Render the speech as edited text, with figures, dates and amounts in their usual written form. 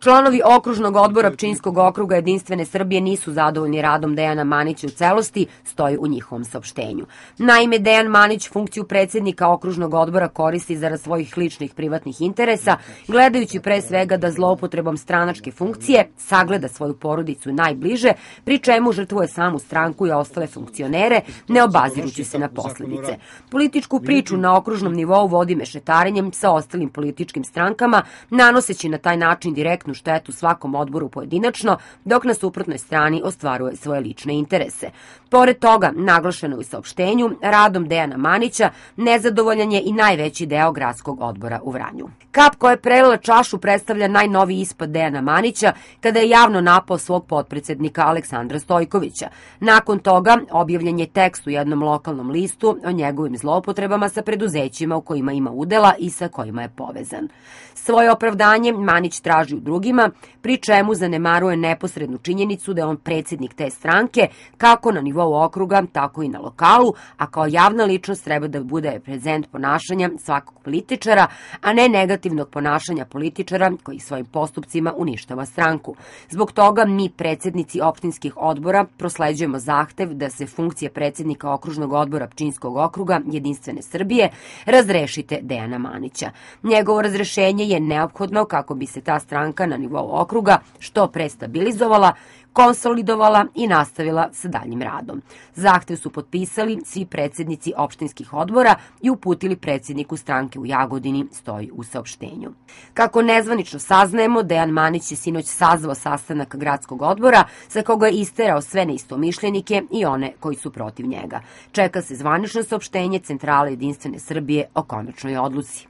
Članovi okružnog odbora Pčinjskog okruga Jedinstvene Srbije nisu zadovoljni radom Dejana Manića u celosti, stoji u njihovom saopštenju. Naime, Dejan Manić funkciju predsjednika okružnog odbora koristi zarad svojih ličnih privatnih interesa, gledajući pre svega da zloupotrebom stranačke funkcije sagleda svoju porodicu najbliže, pri čemu žrtvuje samu stranku i ostale funkcionere, ne obazirući se na posledice. Političku priču na okružnom nivou vodi mešetarenjem sa ostalim političkim strankama, nanoseći na taj način direktnu štetu svakom odboru pojedinačno, dok na suprotnoj strani ostvaruje svoje lične interese. Pored toga, naglašeno u saopštenju, radom Dejana Manića nezadovoljan je i najveći deo gradskog odbora u Vranju. Kap koja je prelila čašu predstavlja najnoviji ispad Dejana Manića kada je javno napao svog potpredsednika Aleksandra Stojkovića. Nakon toga objavljen je tekst u jednom lokalnom listu o njegovim zloupotrebama sa preduzećima u kojima ima udela i sa kojima je povezan. Svoje opravdanje Manić traži u drugima, pri čemu zanemaruje neposrednu činjenicu da je on predsjednik te stranke, kako na nivou okruga, tako i na lokalu, a kao javna ličnost treba da bude prezent ponašanja svakog političara, a ne negativnog ponašanja političara koji svojim postupcima uništava stranku. Zbog toga mi, predsjednici opštinskih odbora, prosleđujemo zahtev da se funkcije predsjednika okružnog odbora Pčinjskog okruga Jedinstvene Srbije razrešite Dejana Manića. Njegovo razrešenje je neophodno kako bi se ta stranka na nivou okruga što pre stabilizovala, konsolidovala i nastavila sa daljim radom. Zahtev su potpisali svi predsjednici opštinskih odbora i uputili predsjedniku stranke u Jagodini, stoji u saopštenju. Kako nezvanično saznajemo, Dejan Manić je sinoć sazvao sastanak gradskog odbora sa koga je isterao sve neistomišljenike i one koji su protiv njega. Čeka se zvanično saopštenje Centrale Jedinstvene Srbije o konačnoj odluci.